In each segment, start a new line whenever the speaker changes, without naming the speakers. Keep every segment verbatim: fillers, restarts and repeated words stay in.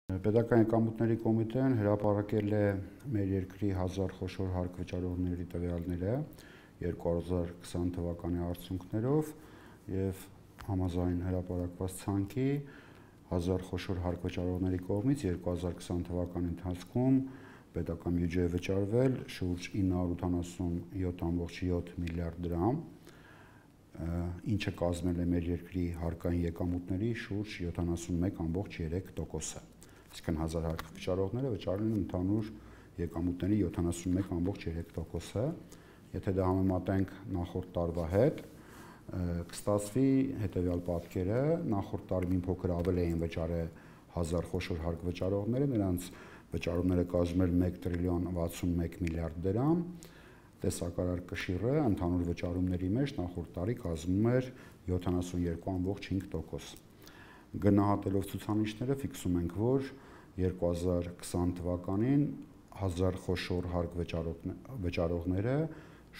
Պետական եկամուտների կոմիտեն հրապարակել է մեր երկրի հազար խոշոր հարկ վճարողների տվյալները երկու հազար քսան թվականի արդյունքներով եւ համաձայն հրապարակված ցանկի հազար խոշոր հարկ վճարողների կողմից երկու հազար քսան թվականի ընթացքում պետական բյուջեը վճարվել շուրջ ինը հարյուր ութանասունյոթ կόμma յոթ միլիարդ դրամ, ինչը կազմել է մեր երկրի հարկային եկամուտների շուրջ յոթանասունմեկ կόμma երեք տոկոսը։ Այսինքն հազար հարկ վճարողները վճարել են ընդհանուր եկամուտների յոթանասունմեկ կόμma երեք տոկոսը։ Եթե դա համեմատենք նախորդ տարվա հետ, կստացվի հետևյալ պատկերը. նախորդ տարի մի փոքր ավել էին վճարել հազար խոշոր հարկ վճարողները, նրանց վճարումները կազմել մեկ տրիլիոն վաթսունմեկ միլիարդ դրամ, տեսակարար կշիռը ընդհանուր վճարումների մեջ նախորդ տարի կազմում էր յոթանասունյոթ կόμma հինգ տոկոս։ Գնահատելով ցուցանիշները ֆիքսում ենք, որ երկու հազար քսան թվականին հազար խոշոր հարկ վճարողները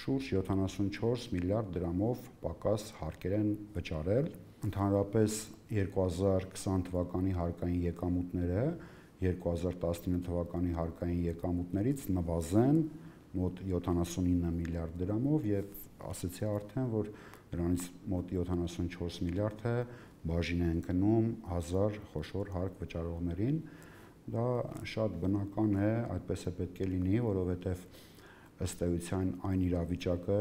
շուրջ յոթանասունչորս միլիարդ դրամով պակաս հարկեր են վճարել։ Ընդհանրապես երկու հազար քսան թվականի հարկային եկամուտները երկու հազար տասնինը թվականի հարկային եկամուտներից նվազեն մոտ յոթանասունինը միլիարդ դրամով եւ ասացի արդեն, որ դրանից մոտ յոթանասունչորս միլիարդը բաժին է ընկնում հազար խոշոր հարկ վճարողներին։ Դա շատ բնական է, այդպես է պետք է լինի, որովհետեւ ըստ էության այն իրավիճակը,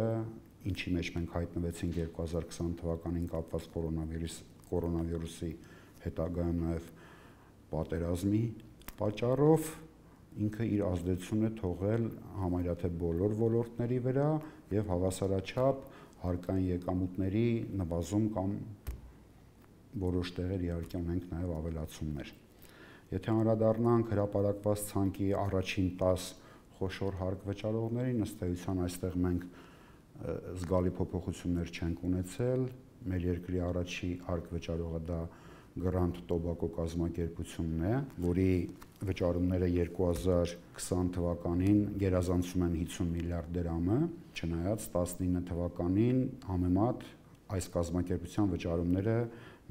ինչի մեջ մենք հայտնվեցինք երկու հազար քսան թվականին կապված կորոնավիրուսի հետագայում նաեւ պատերազմի պատճառով, ինքը իր ազդեցությունն է թողել համարյա թե բոլոր ոլորտների վրա եւ հավասարաչափ հարկային եկամուտների նվազում կամ որոշ տեղեր իհարկե ունենք նաեւ ավելացումներ։ Եթե անդրադառնանք հրապարակված ցանկի առաջին տասը խոշոր հարկ վճարողներին, ըստ էության այստեղ մենք զգալի փոփոխություններ չենք ունեցել։ Մեր երկրի առաջի հարկ վճարողը դա Grand Tobacco կազմակերպությունն է, որի վճարումները երկու հազար քսան թվականին գերազանցում են հիսուն միլիարդ դրամը, չնայած տասնինը թվականին համեմատ այս կազմակերպության վճարումները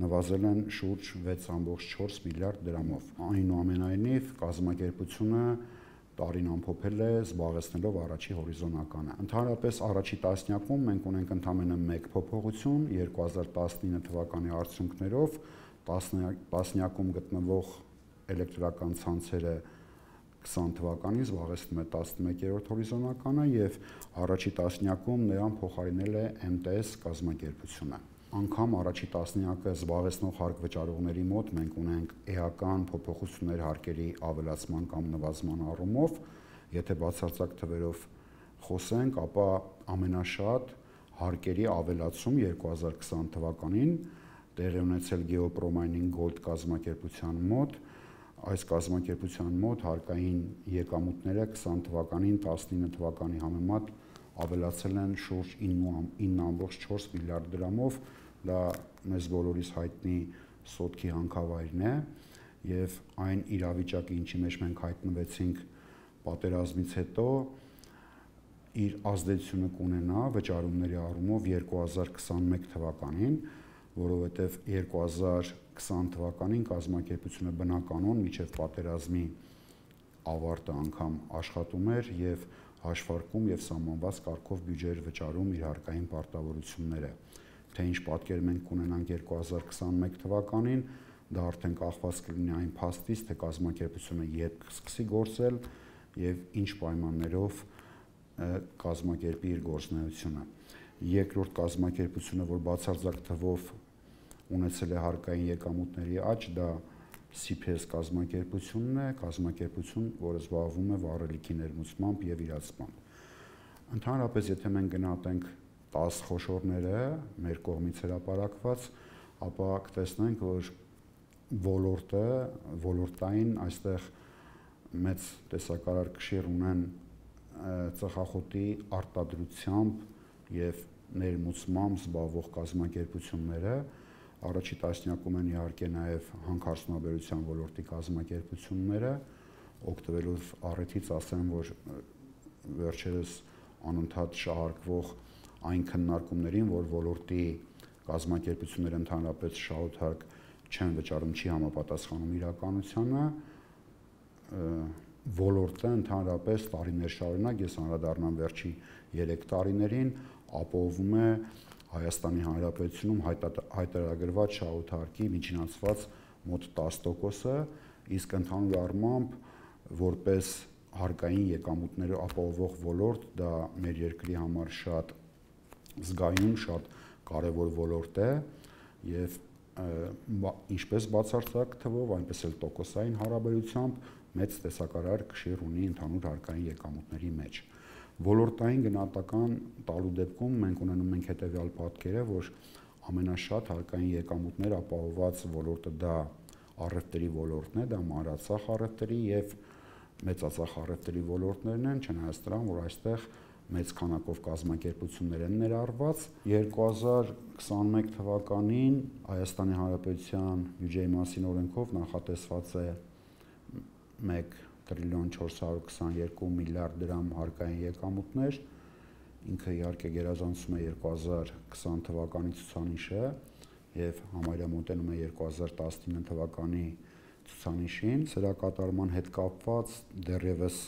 նվազել են շուրջ վեց կόμma չորս միլիարդ դրամով։ Այնուամենայնիվ կազմակերպությունը տարին ամփոփել է զբաղեցնելով առաջի հորիզոնականը։ Ընդհանրապես առաջի տասնյակում մենք ունենք ընդամենը մեկ փոփոխություն երկու հազար տասնինը թվականի արդյունքներով տասնյակում գտնվող էլեկտրական ցանցերը քսան թվականին զբաղեցնում է տասնմեկերորդ հորիզոնականը եւ առաջի տասնյակում նրան փոխարինել է էմ տե էս կազմակերպությունը։ Անգամ առաջի տասնյակը զբաղեցնող հարկ վճարողների մոտ մենք ունենք էական փոփոխություններ հարկերի ավելացման կամ նվազման առումով, եթե բացարձակ թվերով խոսենք, ապա ամենաշատ հարկերի ավելացում երկու հազար քսան թվականին տեղի ունեցել Geopromine Gold կազմակերպության մոտ։ Այս կազմակերպության մոտ հարկային եկամուտները քսան թվականին տասնինը թվականի համեմատ ավելացել են շուրջ ինը կόμma չորս միլիարդ դրամով, դա մեզ բոլորիս հայտնի սոտքի հանքավայրն է եւ այն իրավիճակը, ինչի մեջ մենք հայտնվեցինք պատերազմից հետո, իր ազդեցությունը կունենա վճարումների առումով երկու հազար քսանմեկ թվականին, որովհետեւ երկու հազար քսան թվականին կազմակերպությունը բնականon մինչեւ պատերազմի ավարտը անգամ աշխատում էր եւ հաշվարկում եւ սահմանված կարգով բյուջեեր վճարում իր հարկային պարտավորությունները։ Թե ինչ պատկեր մենք կունենանք երկու հազար քսանմեկ թվականին, դա արդեն կախված կլինի այն փաստից, թե կազմակերպությունը երբ կսկսի գործել եւ ինչ պայմաններով կազմակերպի իր գործունեությունը։ Երկրորդ կազմակերպությունը, որ բացարձակ թվով ունեցել է հարկային եկամուտների աճ, դա սի փի էս կազմակերպությունն է, կազմակերպություն, որը զբաղվում է վառելիքի ներմուծմամբ եւ իրացմամբ։ Ընդհանրապես, եթե մենք գնահատենք տասը խոշորները մեր կողմից հրապարակված, ապա կտեսնենք, որ ոլորտը, ոլորտային այստեղ մեծ տեսակարար կշիռ ունեն ծխախոտի արտադրությամբ եւ ներմուծմամբ զբաղվող կազմակերպությունները, առաջի տասնյակում են իհարկե նաեւ հանքարդյունաբերության ոլորտի կազմակերպությունները, օգտվելով առիթից ասեմ, որ վերջերս անընդհատ շահարկվող այն քննարկումներին, որ ոլորտի կազմակերպությունները ընդհանրապես շահութարկ չեն վճարում, չի համապատասխանում իրականությանը, ոլորտը ընդհանրապես տարիներ շարունակ, ես անդրադառնամ վերջի երեք տարիներին, ապահովում է Հայաստանի Հանրապետությունում հայտարարված շահութարկի միջինացված մոտ տասը տոկոսը, իսկ ընդհանուր առմամբ որպես հարկային եկամուտները ապահովող ոլորտ դա մեր երկրի համար շատ զգայուն, շատ կարևոր ոլորտ է եւ ինչպես բացարձակ թվով, այնպես էլ տոկոսային հարաբերությամբ մեծ տեսակարար կշիռ ունի ընդհանուր հարկային եկամուտների մեջ։ Ոլորտային գնահատական տալու դեպքում մենք ունենում ենք հետևյալ պատկերը, որ ամենաշատ հարկային եկամուտներ ապահովված ոլորտը դա առևտրի ոլորտն է, դա մանրածախ առևտրի եւ մեծածախ առևտրի ոլորտներն են, չնայած դրան, որ այստեղ մեծ քանակով կազմակերպություններ են ներառված։ երկու հազար քսաներկու թվականին Հայաստանի Հանրապետության բյուջեի մասին օրենքով նախատեսված է մեկ տրիլիոն չորս հարյուր քսաներկու միլիարդ դրամ հարկային եկամուտներ, ինքը իհարկե գերազանցում է երկու հազար քսան թվականի ցուցանիշը եւ համարյա մոտենում է երկու հազար տասնինը թվականի ցուցանիշին։ Սրա կատարման հետ կապված դեռևս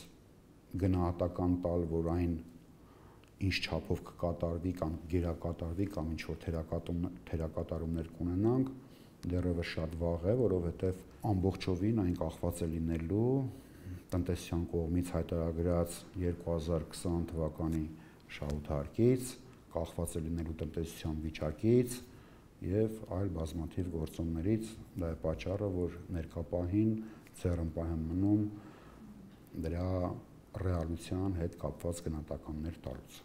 գնահատական տալ, որ այն ինչ չափով կկատարվի կամ գերակատարվի կամ ինչ որ թերակատարումներ կունենանք, դեռևս շատ վաղ է, որովհետև ամբողջովին այն կախված է լինելու տնտեսության կողմից հայտարարած երկու հազար քսան թվականի շահութարկից, կախված է լինելու տնտեսության վիճակից եւ այլ բազմաթիվ գործոններից, դա է պատճառը, որ ներկա պահին ձեռնպահ եմ մնում դրա ռեալության հետ կապված գնահատականներ տալուց։